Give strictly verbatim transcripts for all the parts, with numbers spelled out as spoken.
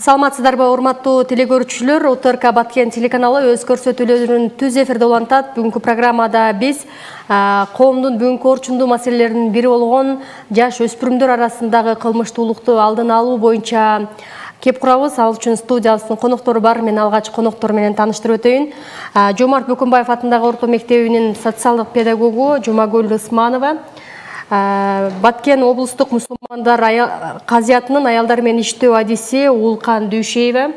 Саламатсыздарбы, урматтуу телекөрүүчүлөр, УТРК Баткен телеканалы өз көрсөтүүлөрүн түз эфирде улантат. Бүгүнкү программада биз коомдун бүгүнкү орчундуу маселелеринин бири болгон жаш өспүрүмдөр арасындагы кылмыштуулукту алдын алуу боюнча кеп курабыз. Ал үчүн студиябыздын коноктору бар. Мен алгач коноктор менен тааныштырып өтөйүн. Жомарт Бөкөнбаев атындагы орто мектебинин социалдык педагогу Жумагүл Ысманова, Баткен облустук мусулмандар казиятынын аялдар менен иштөө адиси Улкан Дүйшеева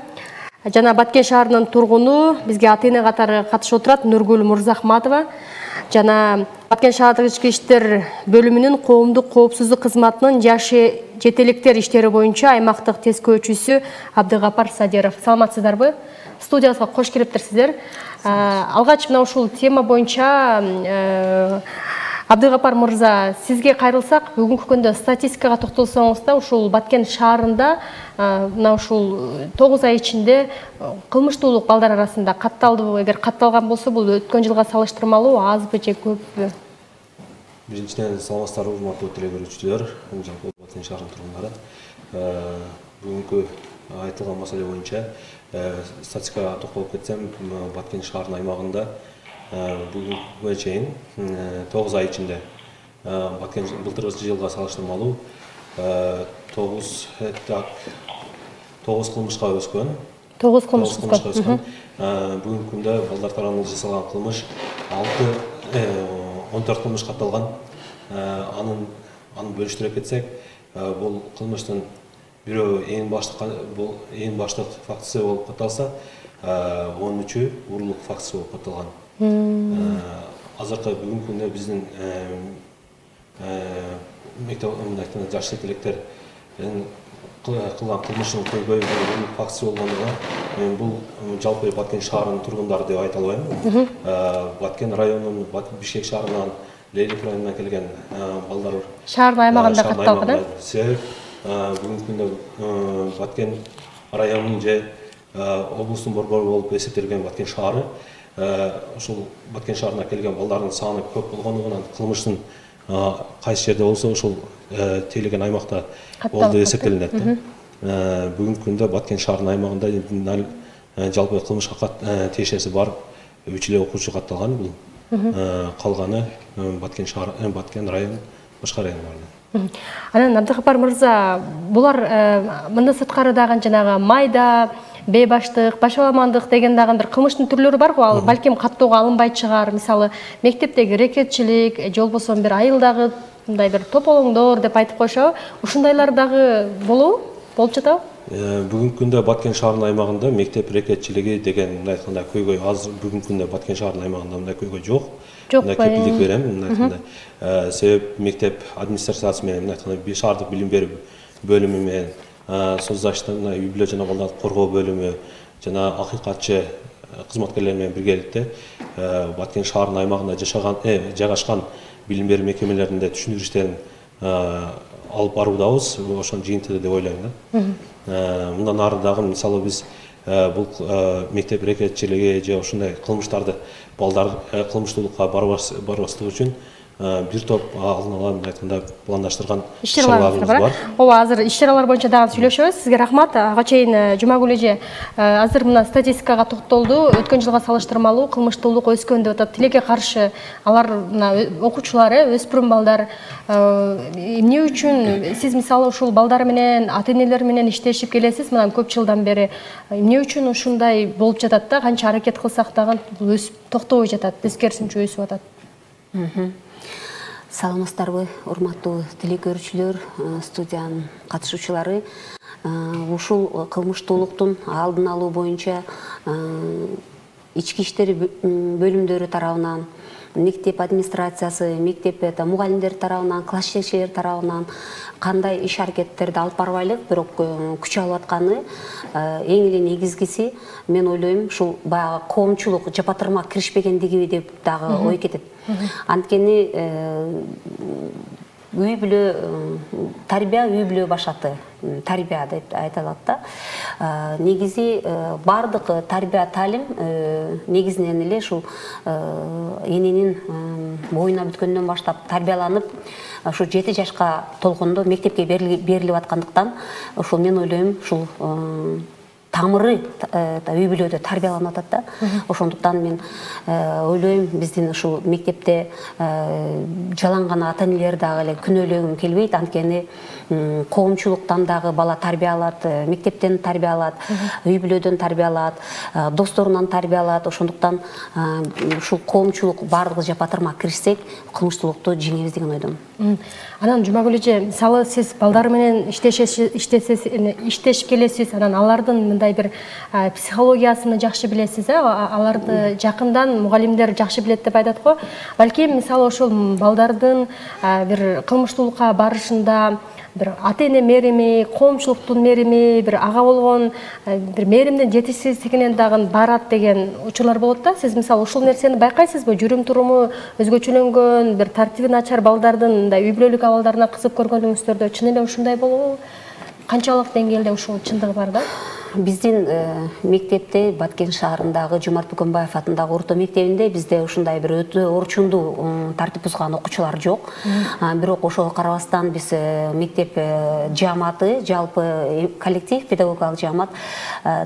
жана Баткен шаарынын тургуну бизге ата-эне катары катышып отурат Нургүл Мурзахматова жана Баткен шаардык ички иштер бөлүмүнүн коомдук коопсуздук кызматынын жаш жетеликтер иштери боюнча аймактык тескөөчүсү Абдыгапар Садиров. Саламатсыздарбы? Студиябызга кош келиптирсиздер. Алгач мына ушул тема боюнча Абдыгапар мырза, сизге кайрылсак, бүгүнкү күндө статистикага токтолсоңуз да, ушул Баткен шаарында мына ушул тогуз ай ичинде кылмыштуулук балдар арасында катталдыбы? Эгер катталган болсо, бул өткөн жылга салыштырмалуу азбы же көппү? Биринчиден, саламатсыздарбы, урматтуу телекөрүүчүлөр, жалпы Баткен шаарынын тургундары. Бүгүнкү айтылган маселе боюнча статистикага токтолуп кетсем, Баткен шаарынын аймагында бүгүнкүгө чейин тогуз ай ичинде Баткен былтыркы жылга салыштырмалуу тогуз кылмышка өскөн. тогуз кылмышка өскөн. Бүгүнкү күндө балдар тарабынан жасалган кылмыш он төрт кылмыш катталган. Анын аны бөлүштүрө кетсек, бул кылмыштын бирөө эң баштык бул эң баштык фактысы болуп катталса, он үчү урлук фактысы болуп катталган. Азыркы бүгүнкү күндө биздин мектеп жаш жетеликтер кылган кылмыштын көйгөйү урлук фактысы болгондугунан мен бул жалпы Баткен шаарынын тургундары деп айта албайм. Баткен районунун, Бишкек шаарынан, Лейлик районунан келген балдар шаардын аймагында катталган. Себеп бүгүнкү күндө Баткен районунун же облустун борбору болуп эсептелген Баткен шаары, ушул Баткен шаарына келген балдардын саны көп болгондугунан кылмыштын кайсы жерде болсо ушул тейлеген аймакта болду деп эсептелинет. Бүгүнкү күндө Баткен шаарынын аймагында жалпы кылмышка тиешеси бар үч эле окуучу катталган. Бул калганы Баткен шаар, Баткен район, башка райондордо. Анан Абдыгапар мырза, булар мындан сырткары дагы жанагы майда бейбаштык, башаламандык деген дагы бир кылмыштын түрлөрү бар го. Ал балким каттоого алынбай чыгар. Мисалы, мектептеги рекетчилик, же болбосо бир айылдагы мындай бир тополоңдор деп айтып коюшабы. Ушундайлар дагы болобу? Болуп жатабы? Бүгүнкү күндө Баткен шаарынын аймагында мектеп рекетчилиги деген мындай айтканда көйгөй аз. Бүгүнкү күндө Баткен шаарынын аймагында мындай көйгөй жок. Мындай кепилдик берем, мындай айтканда. Себеп мектеп администрациясы менен мындай айтканда шаардык билим берүү бөлүмү менен соцзащита, үй бүлө жана балдарды коргоо бөлүмү жана акыйкатчы кызматкерлер менен биргеликте Баткен шаарынын аймагында жашаган, жайгашкан билим берүү мекемелеринде түшүндүрүү иштерин алып баруудабыз. Ошонун жыйынтыгы деп ойлойм да. Мындан ары дагы мисалы биз бул мектеп рекетчилиги же ушундай кылмыштарды балдар кылмыштуулукка барбаслык үчүн бир топ алдын ала айтканда пландаштырган иш-чараларыбыз бар. Ооба, азыр иш-чаралар боюнча дагы сүйлөшөбүз. Сизге рахмат. Ага чейин Жумагүл эже азыр мына статистикага токтолду. Өткөн жылга салыштырмалуу кылмыштуулук өскөн деп атат. Тилекке каршы алар мына окуучулар, өспүрүм балдар эмне үчүн сиз мисалы ушул балдар менен, ата-энелер менен иштешип келесиз мына көп жылдан бери. Эмне үчүн ушундай болуп жатат да? Канча аракет кылсак дагы бул өсүп токтобой жатат, тескерисинче өсүп атат. Саламатсыздарбы, урматтуу телекөрүүчүлөр, студиянын катышуучулары. Ушул кылмыштуулуктун алдын алуу боюнча ички иштер бөлүмдөрү тарабынан, мектеп администрациясы, мектеп мугалимдер тарабынан, класс жетекчилер тарабынан кандай иш аракеттерди алып барбайлык, бирок күч алып атканы эң эле негизгиси мен ойлойм ушул баягы коомчулук жапатырма киришпегендиги деп дагы ой кетет. Анткени үй бүлө тарбия үй бүлө башаты тарбия деп айтылат да. Негизи бардык тарбия таалим негизинен эле ушул эненин боюна бүткөндөн баштап тарбияланып ушу жети жашка толгондо мектепке берилип аткандыктан ушул мен ойлойм ушул тамыры үй бүлөдө тарбияланып атат да. Ошондуктан мен ойлойм биздин ушул мектепте жаланган ата энелер дагы эле күнөөлөгүм келбейт. Анткени коомчулуктан дагы бала тарбия алат, мектептен тарбия алат, үй бүлөдөн тарбия алат, досторунан тарбия алат. Ошондуктан ушул коомчулук бардыгы жапатырма киришсек, кылмыштуулукту жеңебиз деген ойдомун. Анан Жумагүл эже, мисалы сиз балдар менен иштешип келесиз, анан алардын мындай бир психологиясын жакшы билесиз, аларды жакындан мугалимдер жакшы билет деп айтат го. Балким мисалы ошол балдардын бир кылмыштуулукка барышында бир ата эне мерими, коомчулуктун мерими, бир ага болгон бир меримдин жетишсиздигинен дагы барат деген учурлар болот да. Сиз мисалы ушул нерсени байкайсызбы? Жүрүм туруму өзгөчөлөнгөн, бир тартиби начар балдардын мындай үй бүлөлүк абалдарына кызык көргөнүңүздөрдө чын эле ушундай болобу? Канчалык деңгээлде ушул чындыгы бар да? Биздин мектепте Баткен шаарындагы Жомарт Бөкөнбаев атындагы орто мектебинде бизде ушундай бир өтө орчундуу тартип бузган окуучулар жок. Бирок ошого карабастан биз мектеп жааматы, жалпы коллектив, педагогикалык жаамат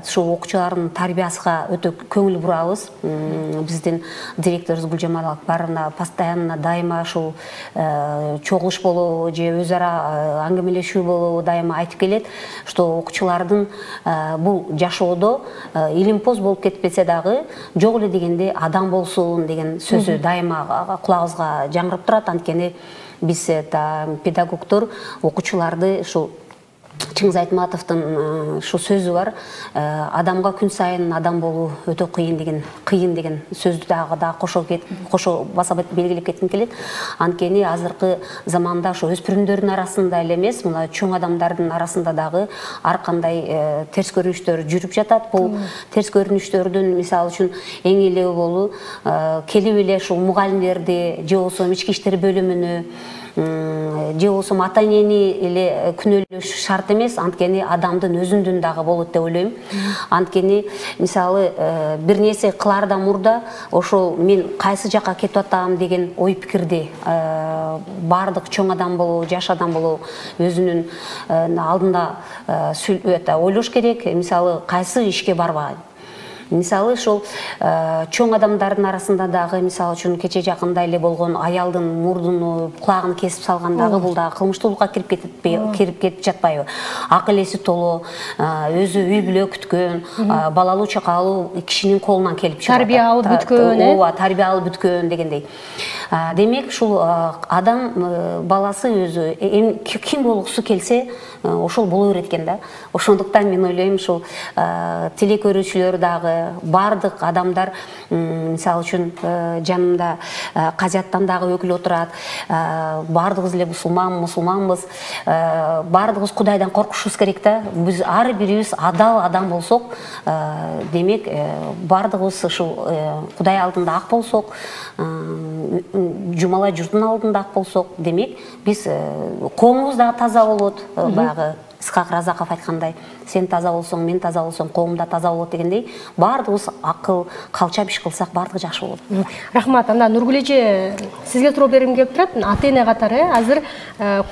ушул окуучулардын тарбиясына өтө көңүл бурабыз. Биздин директорубуз Гүлжамал барына постоянно дайыма ушул чогулуш болобу же өз ара аңгемелешүү болобу дайыма айтып келет, что окуучулардын бул жашоодо илимпоз болуп кетпесе дагы жок эле дегенде адам болсун деген сөзү дайыма кулагыбызга жаңырып турат. Анткени биз педагогдор окуучуларды ушул Чыңгыз Айтматовдун ушу сөзү бар, адамга күн сайын адам болуу өтө кыйын деген кыйын деген сөздү дагы да кошо кошо баса белгилеп кетким келет. Анткени азыркы заманда ошо өспүрүмдөрдүн арасында эле эмес, мына чоң адамдардын арасында дагы ар кандай терс көрүнүштөр жүрүп жатат. Бул терс көрүнүштөрдүн мисалы үчүн эң эле болу келип эле ушул мугалимдерди же болбосо ички иштер бөлүмүнө же болбосо ата энени эле күнөөлөш шарт эмес, анткени адамдын өзүндүн дагы болот деп ойлойм. Анткени мисалы бир нерсе кылаардан мурда ошол мен кайсы жакка кетип атам деген ой пикирди бардык чоң адам болобу, жаш адам болобу өзүнүн алдында ойлош керек. Мисалы кайсы ишке барбайм. Мисалы ошол чоң адамдардын арасында дагы мисалы үчүн кече жакында эле болгон аялдын мурдуну, кулагын кесип салган дагы бул дагы кылмыштуулукка кирип кетпей кирип кетип жатпайбы? Акыл эси толо, өзү үй бүлө күткөн, балалуу чакалуу кишинин колунан келип чыгат. Тарбия алып бүткөн, э? Ооба, тарбия алып бүткөн дегендей. Демек, ушул адам баласы өзү ким болгусу келсе, ошол боло берет экен да. Ошондуктан мен ойлойм, ушул телекөрүүчүлөр дагы бардык адамдар, мисалы үчүн жанымда Казияттан дагы өкүл отурат. Бардыгыбыз эле мусулман, мусулманбыз. Бардыгыбыз Кудайдан коркушубуз керек да. Биз ар бирибиз адал адам болсок, демек бардыгыбыз ушул Кудай алдында ак болсок, жумалай журттун алдында ак болсок, демек биз коомубуз дагы таза болот. Баягы Исхак Разаков айткандай, сен таза болсоң, мен таза болсом, коом да таза болот дегендей, бардыгыбыз акыл, калчап иш кылсак бардыгы жакшы болот. Рахмат. Анда Нургүл эже, сизге суроо бергим келип турат. Ата эне катары азыр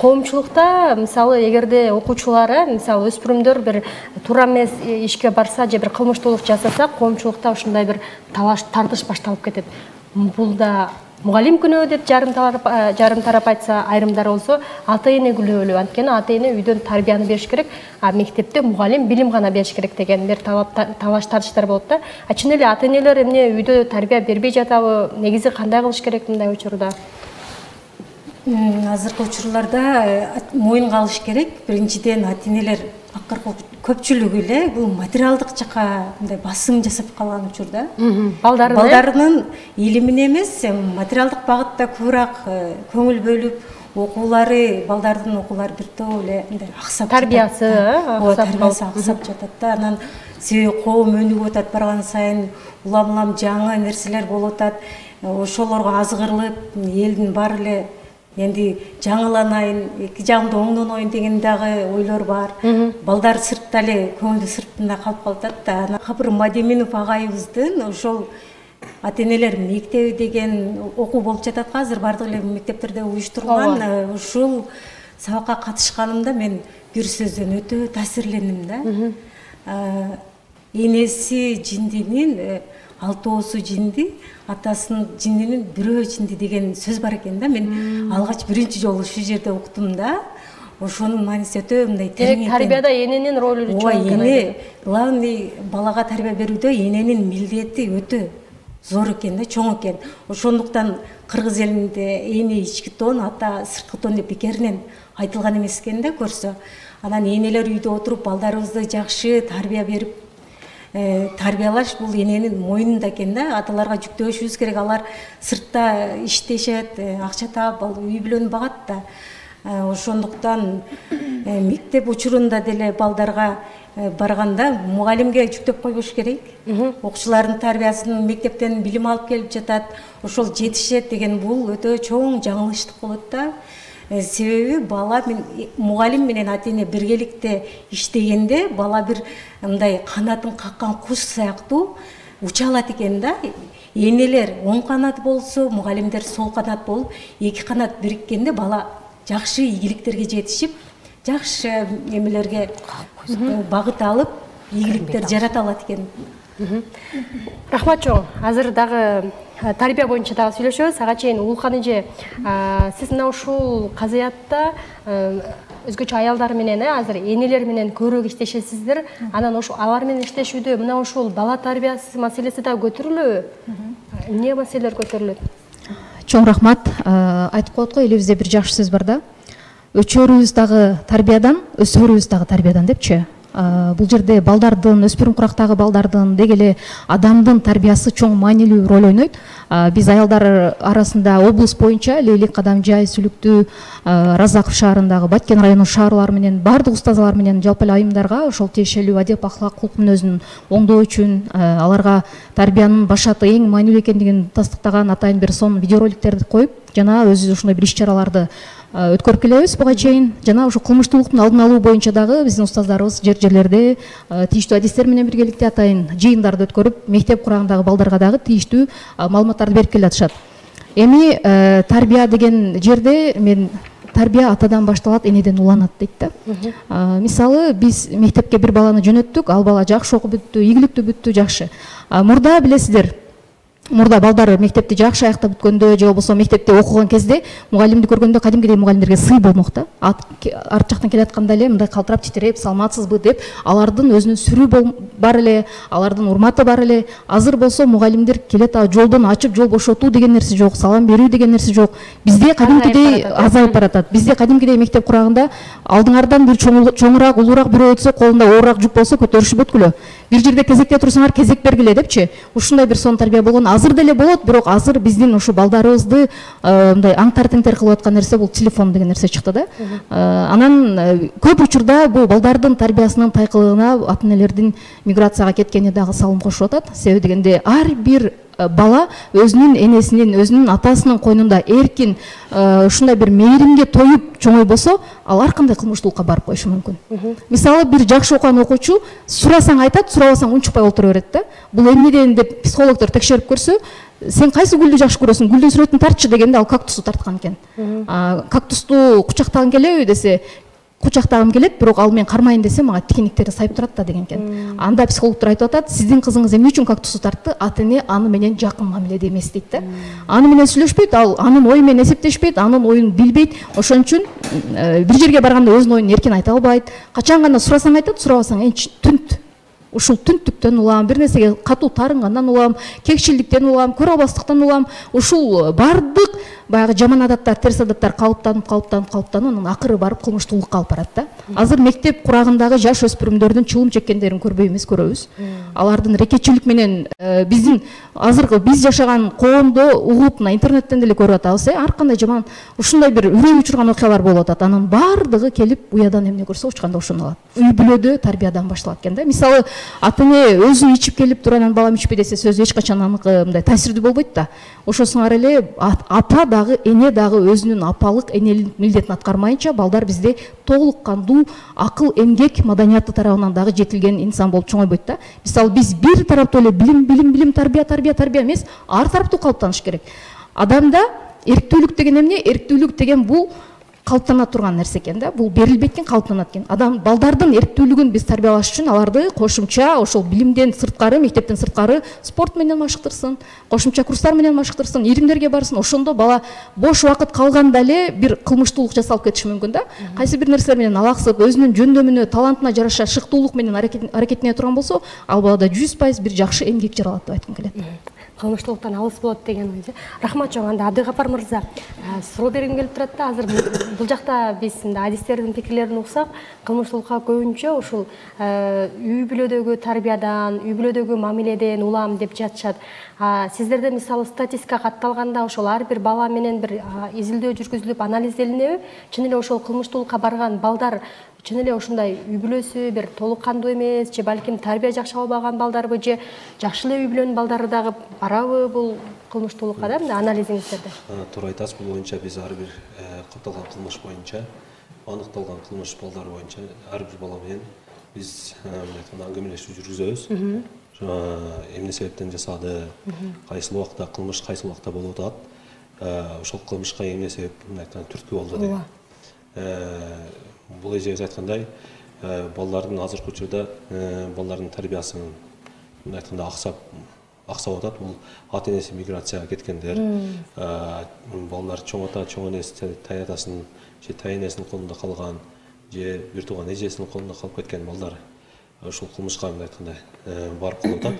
коомчулукта, мисалы, эгерде окуучулар, мисалы, өспүрүмдөр бир туура эмес ишке барса же бир кылмыштуулук жасаса, коомчулукта ушундай бир талаш, тартыш башталып кетет. Бул да мугалим күнөө деп жарым тарап жарым тарап айтса, айрымдар болсо ата эне күнөөлүү. Анткени ата эне үйдөн тарбияны бериш керек, а мектепте мугалим билим гана бериш керек деген бир талаш тартыштар болот да. А чын эле ата энелер эмне үйдө тарбия бербей жатабы? Негизи кандай кылыш керек мындай учурда? Азыркы учурларда моюнга алыш керек. Биринчиден ата энелер акыркы көпчүлүгү эле бул материалдык жакка мындай басым жасап калган учурда. Балдарын балдарынын илимине эмес, материалдык багытта көбүрөөк көңүл бөлүп, окуулары, балдардын окуулары бир топ эле мындай аксап, тарбиясы тарбиясы аксап жатат да. Анан себеби коом өнүгүп атат, барган сайын улам-улам жаңы нерселер болуп атат. Ошолорго азгырылып, элдин баары эле энди жаңыланайын, эки жагымда оңдоноюн деген дагы ойлор бар. Балдар сыртта эле көңүлдү сыртында калып калат да. Анан Кабыр Мадеминов агайыбыздын ошол ата-энелер мектеби деген окуу болуп жатат азыр бардык эле мектептерде уюштурулган. Ушул сабакка катышканымда мен бир сөздөн өтө таасирлендим да. Энеси жиндинин алтоосу жинди, атасынын жиндинин бирөө жинди деген сөз бар экен да. Мен алгач биринчи жолу ушул жерде уктум да. Ошонун мааниси өтө мындай терең экен. Тарбияда эненин ролу чоң. Ооба, эне главный балага тарбия берүүдө эненин милдети өтө зор экен да, чоң экен. Ошондуктан кыргыз элинде эне ички тон, ата сырткы тон деп бекеринен айтылган эмес экен да көрсө. Анан энелер үйдө отуруп балдарыбызды жакшы тарбия берип тарбиялаш бул эненин мойнунда экен да. Аталарга жүктөшүбүз керек. Алар сыртта иштешет, акча таап, үй бүлөнү багат да. Ошондуктан мектеп учурунда деле балдарга барганда мугалимге жүктөп койбош керек. Окуучулардын тарбиясын мектептен билим алып келип жатат, ошол жетишет деген бул өтө чоң жаңылыштык болот да. Себеби бала мен мугалим менен ата-эне биргеликте иштегенде бала бир мындай канатын каккан куш сыяктуу уча алат экен да. Энелер оң канат болсо, мугалимдер сол канат болуп, эки канат бириккенде бала жакшы ийгиликтерге жетишип, жакшы эмелерге багыт алып, ийгиликтер жарата алат экен. Рахмат чоң. Азыр дагы тарбия боюнча дагы сүйлөшөбүз. Ага чейин Улукан эже, сиз мына ушул казыятта өзгөчө аялдар менен, азыр энелер менен көбүрөөк иштешесиздер. Анан ошо алар менен иштешүүдө мына ушул бала тарбиясы маселеси да көтөрүлөбү? Эмне маселелер көтөрүлөт? Чоң рахмат. Айтып коет го, элибизде бир жакшы сөз бар да. Өчөрүбүз дагы тарбиядан, өсөрүбүз дагы тарбиядан депчи. Бул жерде балдардын, өспүрүм курактагы балдардын деги эле адамдын тарбиясы чоң маанилүү роль ойнойт. Биз аялдар арасында облус боюнча Лейлик, Кадамжай, Сүлүктүү, Разаков шаарындагы Баткен районунун шаарлары менен бардык устазалар менен жалпы эле айымдарга ошол тиешелүү адеп, ахлак, кулк мүнөзүн оңдоо үчүн аларга тарбиянын башаты эң маанилүү экендигин тастыктаган атайын бир сон видеороликтерди коюп, жана өзүбүз ушундай бир иш-чараларды өткөрүп келебиз буга чейин. Жана ошо кылмыштуулуктун алдын алуу боюнча дагы биздин устаздарыбыз жер жерлерде тийиштүү адистер менен биргеликте атайын жыйындарды өткөрүп, мектеп курагындагы балдарга дагы тийиштүү маалыматтарды берип келатышат. Эми тарбия деген жерде мен тарбия атадан башталат, энеден уланат дейт да. Мисалы, биз мектепке бир баланы жөнөттүк, ал бала жакшы окуп бүттү, ийгиликтүү бүттү, жакшы. Мурда билесиздер, мурда балдар мектепти жакшы аяктап бүткөндө же болбосо мектепте окуган кезде мугалимди көргөндө кадимкидей мугалимдерге сый болмок да. Арт жактан келатканда эле мындай калтырап титиреп, саламатсызбы деп алардын өзүнүн сүрүү бар эле, алардын урматы бар эле. Азыр болсо мугалимдер келет, жолдон ачып жол бошотуу деген нерсе жок, салам берүү деген нерсе жок. Бизде кадимкидей азайып баратат. Бизде кадимкидей мектеп курагында алдыңардан бир чоңураак, улуураак бирөө өтсө, колунда оорураак жүк болсо көтөрүшүп, бир жерде кезекте турсаңар кезек бергиле депчи. Ушундай бир сон тарбия болгон. Азыр деле болот, бирок азыр биздин ушу балдарыбызды мындай аңтар-теңтер кылып аткан нерсе бул телефон деген нерсе чыкты да. Анан көп учурда бул балдардын тарбиясынын тайкылыгына ата-энелердин миграцияга кеткени дагы салым кошуп атат. Себеби дегенде ар бир бала өзүнүн энесинин, өзүнүн атасынын койнунда эркин ушундай бир мээримге тоюп чоңой болсо, ал ар кандай кылмыштуулукка барып коюшу мүмкүн. Мисалы, бир жакшы окуган окуучу сурасаң айтат, сурабасаң унчукпай олтура берет да. Бул эмнеден деп психологдор текшерип көрсө, сен кайсы гүлдү жакшы көрөсүң, гүлдүн сүрөтүн тартчы дегенде ал кактусту тарткан экен. Кактусту кучактагың келеби десе, кучактагым келет, бирок ал мен кармайын десе мага тикиниктери сайып турат да деген экен. Анда психологдор айтып атат, сиздин кызыңыз эмне үчүн кактусту тартты? Ата-эне аны менен жакын мамиледе эмес дейт да. Аны менен сүйлөшпөйт, ал анын ою менен эсептешпейт, анын оюн билбейт. Ошон үчүн бир жерге барганда өзүнүн оюн эркин айта албайт. Качан гана сурасаң айтат, сурабасаң энчи түнт. Ушул түнттүктөн улам, бир нерсеге катуу тарынгандан улам, кекчилдиктен улам, көрө албастыктан улам, ушул бардык баягы жаман адаттар, терс адаттар калыптанып, калыптанып, калыптанып, анын акыры барып кылмыштуулукка алып барат да. Азыр мектеп курагындагы жаш өспүрүмдөрдүн чулум чеккендерин көрбөй эмес, көрөбүз. Алардын рекетчилик менен биздин азыркы биз жашаган коомдо угуп, мына интернеттен деле көрүп атабыз, ар кандай жаман ушундай бир үрөй учурган окуялар болуп атат. Анын бардыгы келип уядан эмне көрсө учканда ошону алат. Үй бүлөдө тарбиядан башталат экен да. Мисалы, ата эне өзү ичип келип туруп анан балам ичпей десе сөзү эч качан аныкы мындай таасирдүү болбойт да. Ошосуңар эле апа дагы эне дагы өзүнүн апалык энелик милдетин аткармайынча балдар бизде толук кандуу акыл эмгек маданияты тарабынан дагы жетилген инсан болуп чоңойбойт да. Мисалы биз бир тараптуу эле билим билим билим тарбия тарбия тарбия эмес, ар тараптуу калыптаныш керек. Адамда эрктүүлүк деген эмне? Эрктүүлүк деген бул калыптана турган нерсе экен да. Бул берилбейт экен, калыптанат экен. Адам балдардын эрктүүлүгүн биз тарбиялаш үчүн аларды кошумча ошол билимден сырткары, мектептен сырткары спорт менен машыктырсын, кошумча курстар менен машыктырсын, иримдерге барсын. Ошондо бала бош убакыт калганда эле бир кылмыштуулук жасалып кетиши мүмкүн да. Кайсы бир нерселер менен алаксып, өзүнүн жөндөмүнө, талантына жараша шыктуулук менен аракеттене турган болсо, ал балада жүз пайыз бир жакшы эмгек жаралат деп айткым келет. Кылмыштуулуктан алыс болот деген ой. Рахмат чоң. Анда Абдыгапар мырза, суроо бергим келип турат да. Азыр бул жакта биз адистердин пикирлерин уксак, кылмыштуулукка көбүнчө ушул үй бүлөдөгү тарбиядан, үй бүлөдөгү мамиледен улам деп жатышат. Сиздерде мисалы статистика катталганда ошол ар бир бала менен бир изилдөө жүргүзүлүп анализделинеби? Чын эле ошол кылмыштуулукка барган балдар чын эле ушундай үй бүлөсү бир толук кандуу эмес, же балким тарбия жакшы албаган балдарбы, же жакшы эле үй бүлөнүн балдары дагы барабы бул кылмыштуулукка да, мындай анализиңиздерде? Туура айтасыз, бул боюнча биз ар бир катталган кылмыш боюнча, аныкталган кылмыш балдар боюнча ар бир бала менен биз аңгемелешүү жүргүзөбүз. Эмне себептен жасады, кайсы убакта кылмыш, кайсы убакта болуп атат, ошол кылмышка эмне себеп түрткү болду деп. Бул эжебиз айткандай, балдардын азыркы учурда балдардын тарбиясын айтканда аксап аксап атат. Бул ата энеси миграцияга кеткендер, балдар чоң ата, чоң энеси таятасын же тайэнесинин колунда калган, же бир тууган эжесинин колунда калып кеткен балдар ушул кылмышка айткандай барып калып атат.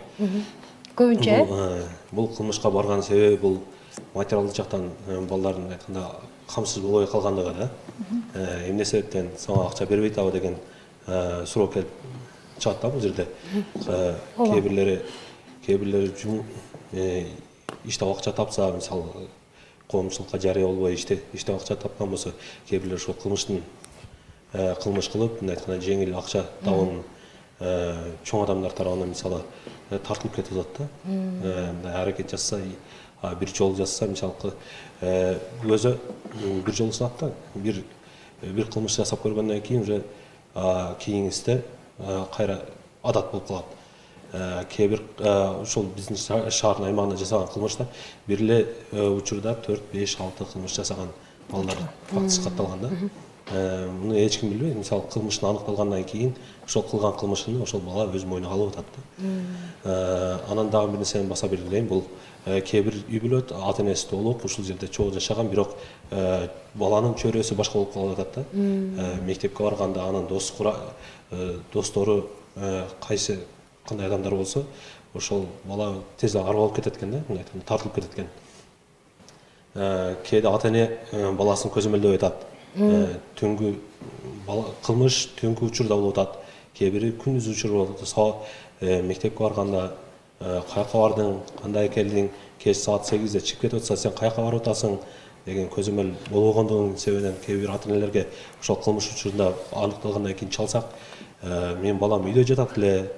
Көбүнчө бул кылмышка барган себеби бул материалдык жактан балдардын айтканда камсыз болбой калгандыгы да. Эмне себептен сага акча бербейт абы деген суроо келип чыгат да бул жерде. Кээ бирлери кээ бирлери иштеп акча тапса, мисалы коомчулукка жарыя болбой иштеп акча тапкан болсо, кээ бирлери ошол кылмыштын кылмыш кылып, мындай айтканда жеңил акча табуун чоң адамдар тарабынан мисалы тартылып кетип атат да. Мындай аракет жасаса, бир жол жасаса, мисалы өзү бир жол сынап да, бир бир кылмыш жасап көргөндөн кийин уже кийинкисинде кайра адат болуп калат. Кээ бир ошол биздин шаардын аймагында жасаган кылмыштар бир эле учурда төрт, беш, алты кылмыш жасаган балдар фактысы катталган да. Муну эч ким билбейт. Мисалы кылмыштын аныкталгандан кийин ошол кылган кылмышын ошол бала өз мойнуна алып атат да. Анан дагы бир нерсени баса белгилейин. Бул кээ бир үй бүлө ата энеси толук ушул жерде чогуу жашаган, бирок баланын чөйрөсү башка болуп калып атат да. Мектепке барганда анын дос достору кайсы кандай адамдар болсо, ошол бала тез арбалып кетет экен да, мындай айтканда тартылып кетет экен. Кээде ата эне баласын көзөмөлдөп атат. Түнгү кылмыш түнгү учурда болуп атат, кээ бири күндүз учурда болуп атат. Мектепке барганда каяка бардың, кандай келдиң, кеч саат сегизде чыгып кетип атса, сен каяка барып атасың деген көзөмөл болбогондугунун себебинен кээ бир ата энелерге ошол кылмыш учурунда аныкталгандан кийин чалсак, менин балам үйдө жатат эле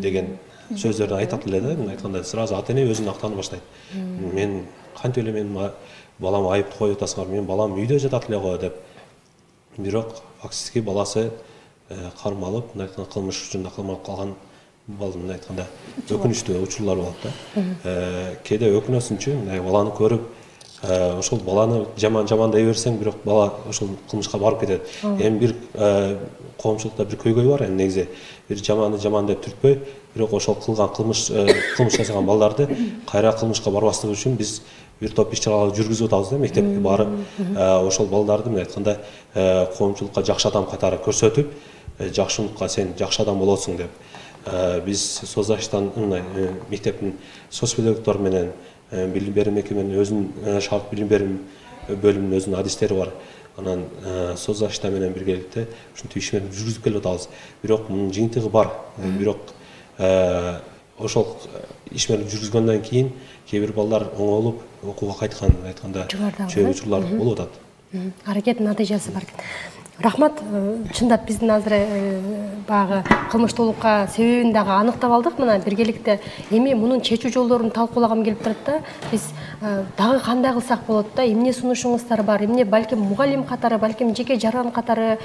деген сөздөрдү айтат эле да. Айтканда сразу ата эне өзүн актана баштайт. Мен кантип эле менин балам айыпты коюп атасыңар, менин балам үйдө жатат эле го деп. Бирок фактически баласы кармалып, мындай айтканда кылмыш учурунда кармалып калган балдын айтканда өкүнүчтүү учурлар болот да. Кээде өкүнөсүңчү, мындай баланы көрүп, ошол баланы жаман жаман дей берсең, бирок бала ошол кылмышка барып кетет. Эми бир коомчулукта бир көйгөй бар, эми негизи бир жаманды жаман деп түртпөй, бирок ошол кылган кылмыш кылмыш жасаган балдарды кайра кылмышка барбаслыгы үчүн биз бир топ иш-чараларды жүргүзүп атабыз да, мектепке барып, ошол балдарды мындай айтканда коомчулукка жакшы адам катары көрсөтүп, жакшылыкка сен жакшы адам болосуң деп. Биз соцзащитадан мектептин соц педагогдор менен билим берим мекеменин өзүнүн шарт билим берим бөлүмүнүн өзүнүн адистери бар. Анан соцзащита менен биргеликте ушинтип ишмерди жүргүзүп келип атабыз. Бирок мунун жыйынтыгы бар. Бирок ошол ишмерди жүргүзгөндөн кийин кээ бир балдар оңолуп окууга кайткан айтканда чөйрө учурлар болуп атат. Аракеттин натыйжасы бар. Рахмат, чындап биздин азыр багы кылмыштуулукка себебин дагы аныктап алдык. Мына биргеликте эми мунун чечүү жолдорун талкуулагам келип турат да. Биз дагы кандай кылсак болот да? Эмне сунушуңуздар бар? Эмне балким мугалим катары, балким жеке жаран катары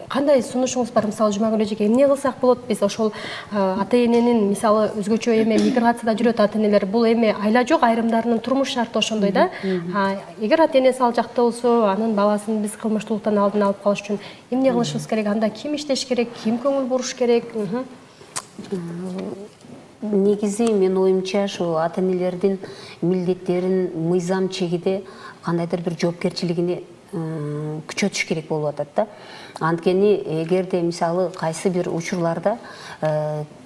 кандай сунушуңуз бар? Мисалы Жумагүл эжеке, эмне кылсак болот? Биз ошол ата-эненин мисалы өзгөчө эме миграцияда жүрөт ата-энелер. Бул эме айла жок, айрымдарынын турмуш шарты ошондой да. Эгер ата-энеси ал жакта болсо, анын баласын биз кылмыштуулуктан алдын алып калыш үчүн эмне кылышыбыз керек? Анда ким иштеш керек? Ким көңүл буруш керек? Негизи мен оюмча ушу ата-энелердин милдеттерин мыйзам чегиде кандайдыр бир жоопкерчилигине күчөтүш керек болуп атат да. Анткени эгерде мисалы кайсы бир учурларда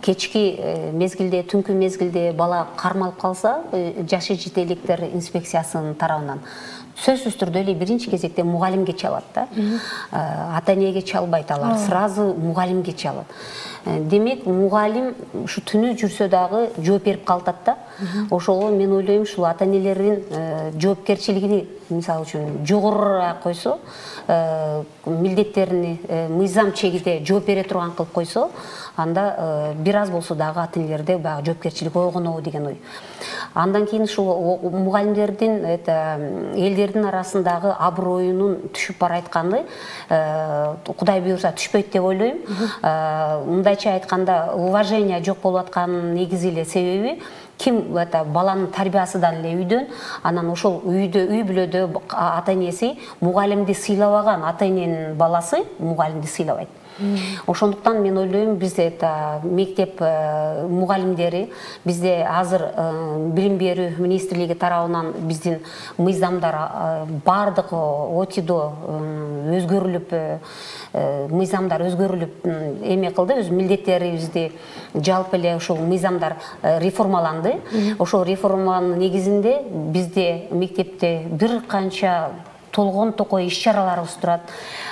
кечки мезгилде, түнкү мезгилде бала кармалып калса, жашы жетеликтер инспекциясынын тарабынан сөзсүз түрдө эле биринчи кезекте мугалимге чалат да. Ата-энеге чалбайт алар, сразу мугалимге чалат. Демек, мугалим ушу түнү жүрсө дагы жооп берип калат да. Ошого мен ойлойм, ушул ата-энелердин жоопкерчилигини мисалы үчүн жогорураак койсо, милдеттерини мыйзам чегиде жооп бере турган кылып койсо, анда бир аз болсо дагы ата-энелерде баягы жоопкерчилик ойгонобу деген ой. Андан кийин ушул мугалимдердин элдердин арасындагы аброюнун түшүп барайтканы Кудай буйрса түшпөйт деп ойлойм. Мындайча айтканда, уважение жок болуп атканын негизи эле себеби ким баланын тарбиясыдан эле үйдөн, анан ошол үйдө, үй бүлөдө ата-энеси мугалимди сыйлабаган ата-эненин баласы мугалимди сыйлабайт. Ошондуктан мен ойлойм, бизде мектеп мугалимдери, бизде азыр билим берүү министрлиги тарабынан биздин мыйзамдар бардык отидо өзгөрүлүп, мыйзамдар өзгөрүлүп эме кылды, өз милдеттерибизди жалпы эле ошол мыйзамдар реформаланды. Ошол реформанын негизинде бизде мектепте бир канча толгон токой иш-чараларыбыз турат.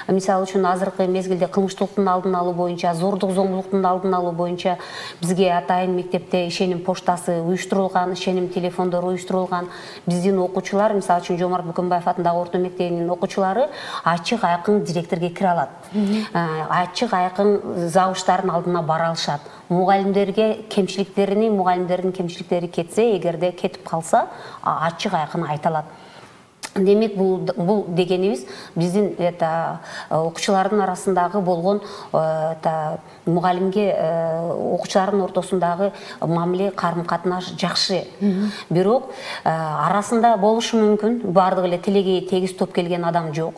Мисалы үчүн азыркы мезгилде кылмыштуулуктун алдын алуу боюнча, зордук зомбулуктун алдын алуу боюнча бизге атайын мектепте ишеним поштасы уюштурулган, ишеним телефондору уюштурулган. Биздин окуучулар, мисалы үчүн Жомарт Бүкөнбаев атындагы орто мектебинин окуучулары ачык айкын директорге кире алат. Ачык айкын забыштардын алдына бара алышат. Мугалимдерге кемчиликтерини, мугалимдердин кемчиликтери кетсе, эгерде кетип калса, ачык айкын айта алат. Демек, бул, бул дегенибиз биздин окуучулардын арасындагы болгон мугалимге окуучулардын ортосундагы мамиле, карым-катнаш жакшы. Бирок арасында болушу мүмкүн, бардык эле тилеги тегиз топ келген адам жок.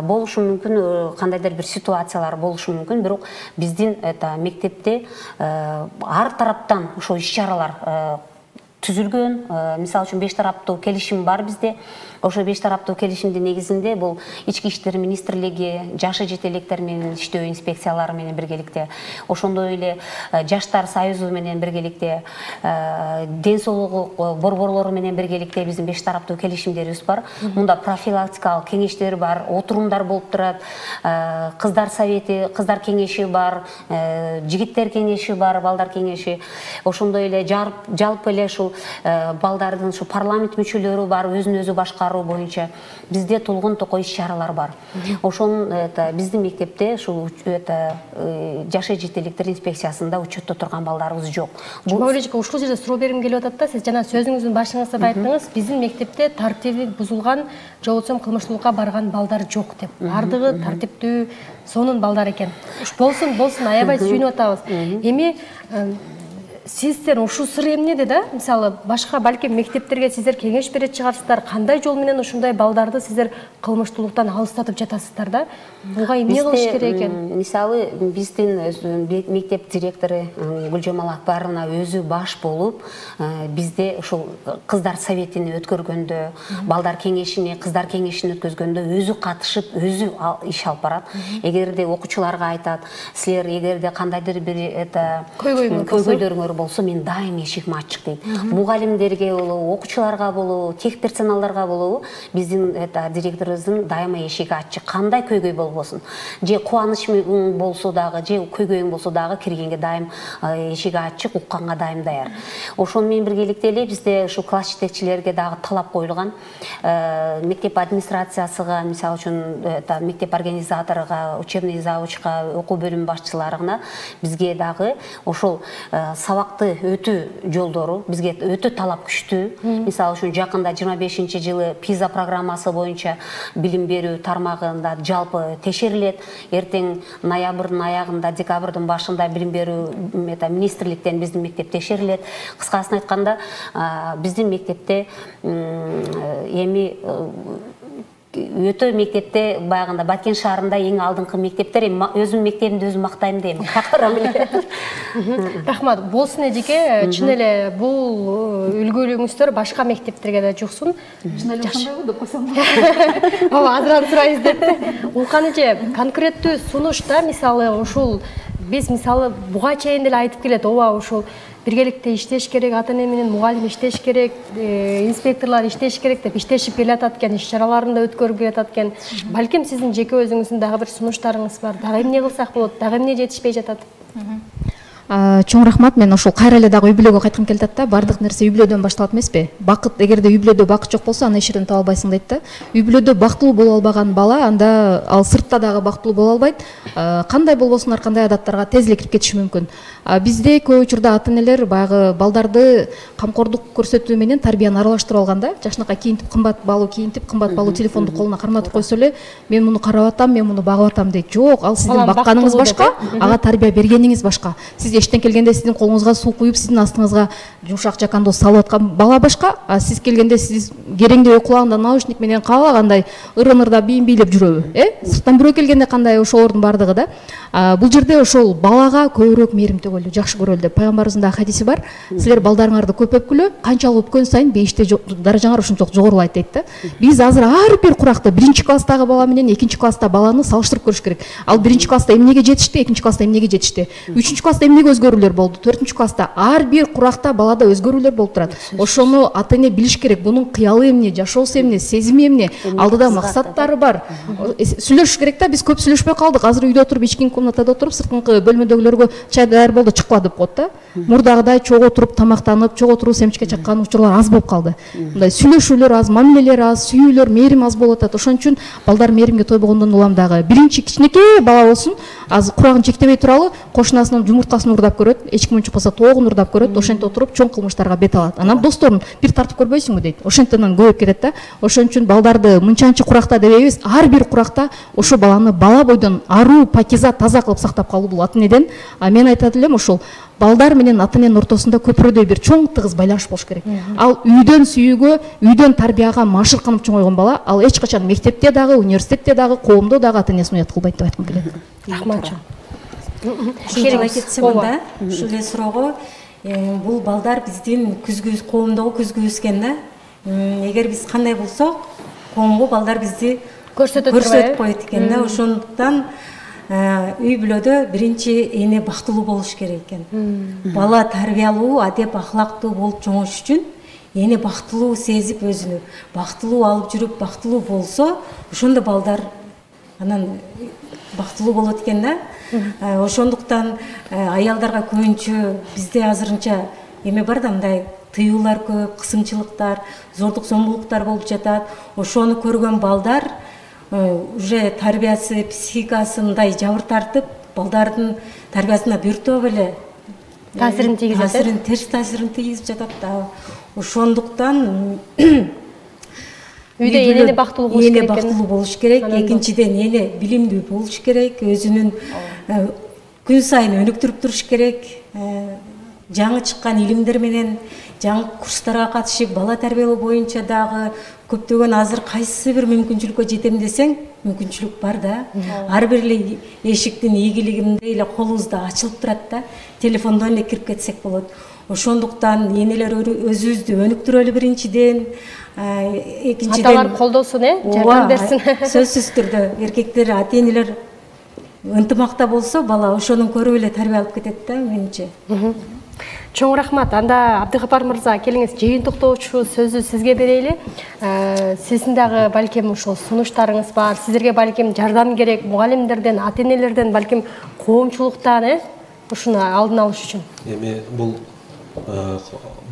Болушу мүмкүн, кандайдыр бир ситуациялар болушу мүмкүн, бирок биздин мектепте ар тараптан ошо иш-чаралар түзүлгөн. Мисалы үчүн беш тараптуу келишим бар бизде. Ошо беш тараптуу келишимдин негизинде бул Ички иштер министрлиги, жашы жетеликтер менен иштөө инспекциялары менен биргеликте, ошондой эле жаштар союзу менен биргеликте, ден соолугу борборлору менен биргеликте биздин беш тараптуу келишимдерибиз бар. Мунда профилактикалык кеңештер бар, отурумдар болуп турат, кыздар совети, кыздар кеңеши бар, жигиттер кеңеши бар, балдар кеңеши. Ошондой эле жалпы эле ушул балдардын ушу парламент мүчөлөрү бар, өзүн өзү башкаруу боюнча бизде толгон токой иш-чаралар бар. Ошон биздин мектепте ушул жашы жетеликтер инспекциясында учетто турган балдарыбыз жок. Жумагүл эжеке, ушул жерде суроо бергим келип атат да. Сиз жана сөзүңүздүн башыңызда да айттыңыз, биздин мектепте тартиби бузулган, же болбосо кылмыштуулукка барган балдар жок деп. Бардыгы тартиптүү, сонун балдар экен. Болсун, болсун, аябай сүйүнүп атабыз. Эми сиздер ушул сыр эмнеде да? Мисалы, башка балким мектептерге сиздер кеңеш берет чыгарсыздар, кандай жол менен ушундай балдарды сиздер кылмыштуулуктан алыстатып жатасыздар да? Буга эмне кылыш керек экен? Мисалы, биздин мектеп директору Гүлжамал Акбаровна өзү баш болуп, бизде ушул кыздар советини өткөргөндө, балдар кеңешини, кыздар кеңешин өткөзгөндө өзү катышып, өзү иш алып барат. Эгерде окуучуларга айтат, силер эгерде кандайдыр бир это көйгөйлөрүңөр болсо мен дайым эшигим ачык дейт. Мугалимдерге болобу, окуучуларга болобу, тех персоналдарга болобу биздин это директорубуздун дайыма эшиги ачык. Кандай көйгөй болбосун. Же кубаныч болсо дагы, же көйгөйүң болсо дагы киргенге дайым эшиги ачык, укканга дайым даяр. Ошону менен биргеликте эле бизде ушу класс жетекчилерге дагы талап коюлган. Мектеп администрациясыга, мисалы үчүн мектеп организаторуга, учебный завучка, окуу бөлүм башчыларына бизге дагы ошол сабакты өтүү жолдору бизге өтө талап күчтүү. Мисалы үчүн жакында жыйырма бешинчи жылы пиза программасы боюнча билим берүү тармагында жалпы текшерилет. Эртең ноябрдын аягында, декабрдын башында билим берүү мета министрликтен биздин мектеп текшерилет. Кыскасын айтканда, биздин мектепте эми өтө мектепте баягында Баткен шаарында эң алдыңкы мектептер, өзүм мектебимди өзүм мактайм дейм. Какырам эле. Рахмат. Болсун эжеке, чын эле бул үлгүлүгүңүздөр башка мектептерге да жуксун. Чын эле ошондойбу деп койсом. Ооба, азыран сурайбыз депти. Улкан эже, конкреттүү сунушта мисалы ушул биз мисалы буга чейин деле айтып келет, ооба ушул биргеликте иштеш керек, ата-эне менен мугалим иштеш керек, инспекторлор иштеш керек деп иштешип келатат экен, иш-чараларын да өткөрүп келатат экен. Балким сиздин жеке өзүңүздүн дагы бир сунуштарыңыз бар. Дагы эмне кылсак болот? Дагы эмне жетишпей жатат? Чоң рахмат. Мен ошол кайра эле дагы үй бүлөгө кайткым келип атат да. Бардык нерсе үй бүлөдөн башталат эмеспи? Бакыт, эгерде үй бүлөдө бакыт жок болсо, аны эч жерден таба албайсың дейт да. Үй бүлөдө бактылуу боло албаган бала, анда ал сыртта дагы бактылуу боло албайт. Кандай болбосун, ар кандай адаттарга тез эле кирип кетиши мүмкүн. Бизде көп учурда ата-энелер баягы балдарды камкордук көрсөтүү менен тарбияны аралаштырып алган да. Жашынакай кийинтип, кымбат баалуу кийинтип, кымбат баалуу телефонду колуна карматып койсо эле, мен муну карап атам, мен муну багып атам дейт. Жок, ал сиздин бакканыңыз башка, ага тарбия бергениңиз башка. Сиз эштен келгенде сиздин колуңузга суу куюп, сиздин астыңызга жумшак жакандоз салып аткан бала башка, а сиз келгенде сиз кереңдебей кулагында наушник менен каалагандай ырын-ырда бийим бийлеп жүрөбү, э? Сырттан бирөө келгенде кандай ошолордун бардыгы да. Бул жерде ошол балага көбүрөөк мээрим төгөлү, жакшы көрөлү деп пайгамбарыбыздын да хадиси бар. Силер балдарыңарды көп өпкүлө, канчалык өпкөн сайын бейиште даражаңар ошончолук жогорулайт дейт да. Биз азыр ар бир куракта биринчи класстагы бала менен экинчи класста баланы салыштырып көрүш керек. Ал биринчи класста эмнеге жетишти, экинчи класста эмнеге жетишти, үчүнчү класста эмнеге өзгөрүүлөр болду, төртүнчү класста ар бир куракта балада өзгөрүүлөр болуп турат. Ошону ата-эне билиш керек. Бунун кыялы эмне, жашоосу эмне, сезими эмне, алдыда максаттары бар. Сүйлөшүш керек да. Биз көп сүйлөшпөй калдык. Азыр үйдө отуруп, ички комнатада отуруп, сырткы бөлмөдөгүлөргө чай даяр болду, чыкпа деп коет да. Мурдагыдай чогуу отуруп тамактанып, чогуу отуруп семчке чаккан учурлар аз болуп калды. Мындай сүйлөшүүлөр аз, мамилелер аз, сүйүүлөр, мээрим аз болуп атат. Ошон үчүн балдар мээримге тойбогондон улам дагы биринчи кичинекей бала болсун, аз курагын чектебей туралы, кошунасынын жумурткасын урдап көрөт, эч ким чыкпаса тоогун урдап көрөт, ошентип отуруп чоң кылмыштарга бет алат. Анан досторун бир тартып көрбөйсүңбү дейт. Ошентиптен көбөйүп кетет да. Ошон үчүн балдарды мынчанчы куракта дебейбиз, ар бир куракта ошо баланы бала бойдон аруу, пакиза, таза кылып сактап калуу бул ата-энеден. А мен айтат элем, ошол балдар менен ата-эненин ортосунда көпүрөдөй бир чоң тыгыз байланыш болуш керек. Ал үйдөн сүйүүгө, үйдөн тарбияга машырканып чоңойгон бала, ал эч качан мектепте дагы, университетте дагы, коомдо дагы ата-энесин уят кылбайт деп айткым келет. Рахмат. Ушул кетсем да, ушул эле суроого, бул балдар биздин күзгү коомдогу күзгүбүз экен да. Эгер биз кандай болсок, коомго балдар бизди көрсөтөт коет экен да. Ошондуктан үй бүлөдө биринчи эне бактылуу болуш керек экен. Бала тарбиялуу, адеп ахлактуу болуп чоңош үчүн эне бактылуу сезип өзүнү, бактылуу алып жүрүп, бактылуу болсо, ошондо балдар анан бактылуу болот экен да. Ошондуктан аялдарга көбүнчө бизде азырынча эме бар да, мындай тыюулар көп, кысымчылыктар, зордук зомбулуктар болуп жатат. Ошону көргөн балдар уже тарбиясы, психикасы мындай жабыр тартып, балдардын тарбиясына биртоп эле таасирин тийгизет. Таасирин, терс таасирин тийгизип жатат да. Ошондуктан үйдө энени бактылуу болуш керек. Эне бактылуу болуш керек. Экинчиден эне билимдүү болуш керек. Өзүнүн күн сайын өнүктүрүп туруш керек. Жаңы чыккан илимдер менен жаңы курстарга катышып, бала тарбиялоо боюнча дагы көптөгөн азыр кайсы бир мүмкүнчүлүккө жетем десең, мүмкүнчүлүк бар да. Ар бир эле эшиктин ийгилигинде эле колубузда ачылып турат да. Телефондон эле кирип кетсек болот. Ошондуктан энелер өзүбүздү өнүктүрөлү биринчиден, экинчиден аталар колдосун, э, жардам берсин. Сөзсүз түрдө эркектер, ата-энелер ынтымакта болсо, бала ошонун көрүп эле тарбия алып кетет да, менимче. Чоң рахмат. Анда Абдыгапар мырза, келиңиз жыйынтыктоочу сөзү сизге берели. Сиздин дагы балким ушул сунуштарыңыз бар. Сиздерге балким жардам керек, мугалимдерден, ата-энелерден, балким коомчулуктан, э, ушуну алдын алыш үчүн. Эми бул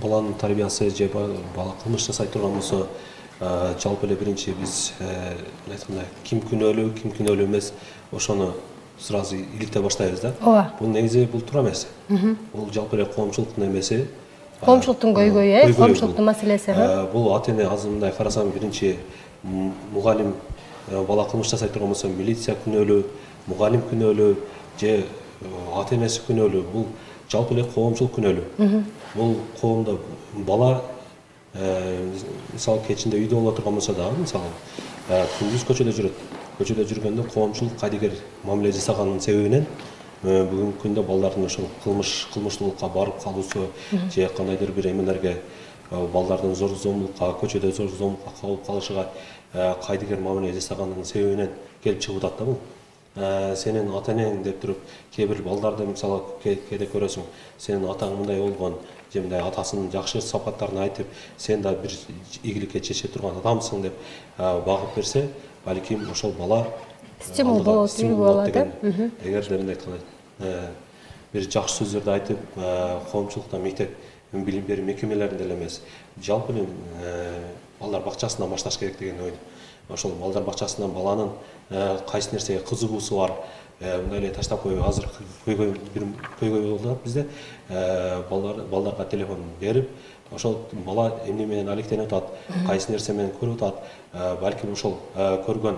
баланын тарбиясы же бала кылмыш жасай турган болсо, жалпы эле биринчи биз айткандай ким күнөөлүү, ким күнөөлүү эмес, ошону сразу иликтей баштайбыз да. Ооба. Бул негизи бул туура эмес. Бул жалпы эле коомчулуктун эмеси. Коомчулуктун көйгөйү, э, коомчулуктун маселеси. Бул ата-эне азыр мындай карасам, биринчи мугалим бала кылмыш жасай турган болсо, милиция күнөөлүү, мугалим күнөөлүү же ата-энеси күнөөлүү. Бул жалпы эле коомчулук күнөөлүү. Бул коомдо бала мисалы кечинде үйдө боло турган болсо дагы, мисалы күндүз көчөдө жүрөт. Көчөдө жүргөндө коомчулук кайдыгер мамиле жасаганын себебинен бүгүнкү күндө балдардын ошол кылмыш кылмыштуулукка барып калуусу же кандайдыр бир эмелерге балдардын зор зомбулукка, көчөдө зор зомбулукка калып калышыга кайдыгер мамиле жасаганын себебинен келип чыгып атат да бул. Сенин ата-энең деп туруп, кээ бир балдарды мисалы кээде көрөсүң, сенин атаң мындай болгон, же мындай атасынын жакшы сапаттарын айтып, сен да бир ийгиликке чече турган адамсың деп багып берсе, балким ошол бала стимул болот, үлгү болот да. Эгерде мындай бир жакшы сөздөрдү айтып, коомчулукта, мектеп, билим берүү мекемелеринде эле эмес, жалпы эле балдар бакчасынан башташ керек деген ойдум. Ошол балдар бакчасынан баланын кайсы нерсеге кызыгуусу бар, мындай эле таштап коюп, азыр көйгөй бир көйгөй болду бизде, балдарга телефон берип, ошол бала эмне менен алектенип атат, кайсы нерсе менен көрүп атат, балким ошол көргөн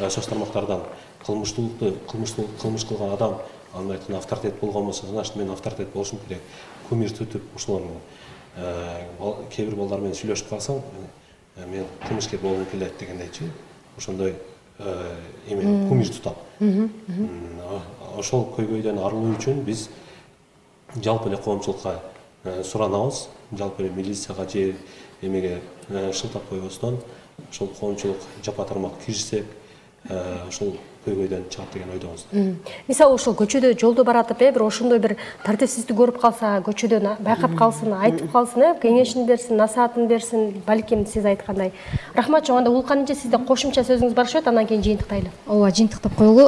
соц тармактардан кылмыштуулукту, кылмыштуулук кылмыш кылган адам, андай авторитет болгон болсо, значит мен авторитет болушум керек, кумир түтүп, ошолордун кээ бир балдар менен сүйлөшүп калсаң, мен кылмышкер болгум келет дегендейчи, ошондой эме кумир тутат. Ошол көйгөйдөн арылуу үчүн биз жалпы эле коомчулукка суранабыз, жалпы эле милицияга же эмеге шылтап койбостон, ошол коомчулук жапа тармак киришсек, ошол көйгөйдөн чыгат деген ойдобуз. Мисалы ошол көчөдө жолдо баратып, э, бир ошондой бир тартипсиздик көрүп калса, көчөдөн байкап калсын, айтып калсын, э, кеңешин берсин, насаатын берсин, балким сиз айткандай. Рахмат чоң, анда Улканчы сизде кошумча сөзүңүз бар болот, андан кийин жыйынтыктайлы. Ооба, жыйынтыктап коелу.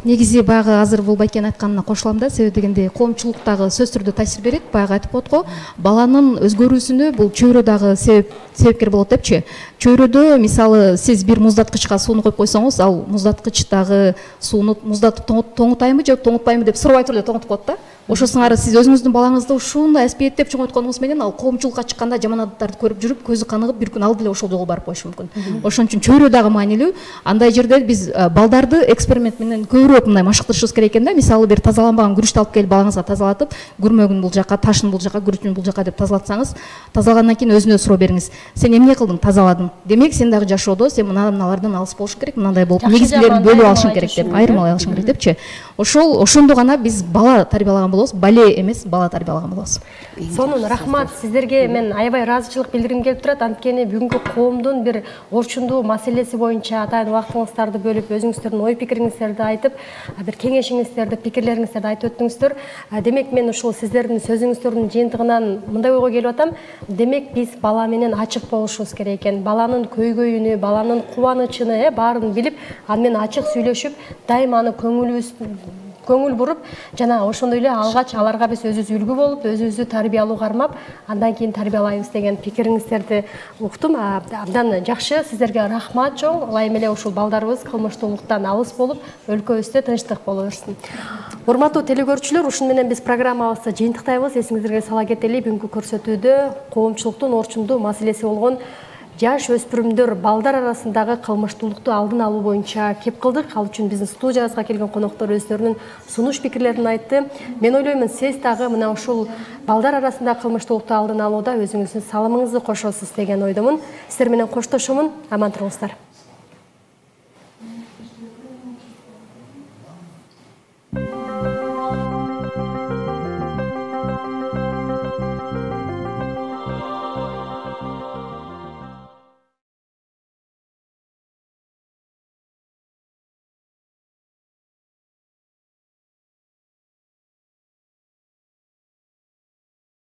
Негизи баягы азыр бул байкенин айтканына кошулам да, себеби дегенде коомчулуктагы сөз түрдө таасир берет. Баягы айтып коет го, баланын өзгөрүүсүнө бул чөйрө дагы себеп себепкер болот депчи. Чөйрөдө мисалы сиз бир муздаткычка сууну коюп койсоңуз, ал муздаткычтагы сууну муздатып тоңутайбы же тоңутпайбы деп сурабай туруп эле тоңутуп коет да. Ошол сыңары сиз өзүңүздүн балаңызды ушундай аспиеттеп чоңойтконуңуз менен ал коомчулукка чыкканда жаман адаттарды көрүп жүрүп, көзү каныгып, бир күн ал деле ошол жолго барып коюшу мүмкүн. Ошон үчүн чөйрө дагы маанилүү. Андай жерде биз балдарды эксперимент менен көбүрөөк мындай машыктырышыбыз керек экен да. Мисалы бир тазаланбаган күрүчтү алып келип балаңызга тазалатып, күрмөгүн бул жака, ташын бул жака, күрүчүн бул жака деп тазалатсаңыз, тазалагандан кийин өзүнө суроо бериңиз. Сен эмне кылдың? Тазаладым. Демек сен дагы жашоодо сен мына мыналардан алыс болуш керек, мындай болуп, негизгилерин бөлүп алышың керек деп, айырмалай алышың керек депчи. Ошол ошондо гана биз бала тарбиялаган болобуз, бале эмес, бала тарбиялаган болобуз. Сонун рахмат, сиздерге мен аябай ыраазычылык билдиргим келип турат. Анткени бүгүнкү коомдун бир орчундуу маселеси боюнча атайын убактыңыздарды бөлүп, өзүңүздөрдүн ой пикириңиздерди айтып, бир кеңешиңиздерди, пикирлериңиздерди айтып өттүңүздөр. Демек мен ушул сиздердин сөзүңүздөрдүн жыйынтыгынан мындай ойго келип атам. Демек биз бала менен ачык болушубуз керек экен. Баланын көйгөйүнү, баланын кубанычын, баарын билип, аны менен ачык сүйлөшүп, дайыма аны көңүлүбүз көңүл буруп, жана ошондой эле алгач аларга биз өзүбүз үлгү болуп, өзүбүздү тарбиялуу кармап, андан кийин тарбиялайбыз деген пикириңиздерди уктум. Абдан жакшы, сиздерге рахмат чоң. Ылайым эле ушул балдарыбыз кылмыштуулуктан алыс болуп, өлкөбүздө тынчтык боло берсин. Урматтуу телекөрүүчүлөр, ушун менен биз программабызды жыйынтыктайбыз. Эсиңиздерге сала кетели, бүгүнкү көрсөтүүдө коомчулуктун орчундуу маселеси болгон жаш өспүрүмдөр балдар арасындагы кылмыштуулукту алдын алуу боюнча кеп кылдык. Ал үчүн биздин студиябызга келген коноктор өздөрүнүн сунуш пикирлерин айтты. Мен ойлоймун, сиз дагы мына ушул балдар арасындагы кылмыштуулукту алдын алууда өзүңүздүн салымыңызды кошосуз деген ойдомун. Сиздер менен коштошомун. Аман туруңуздар.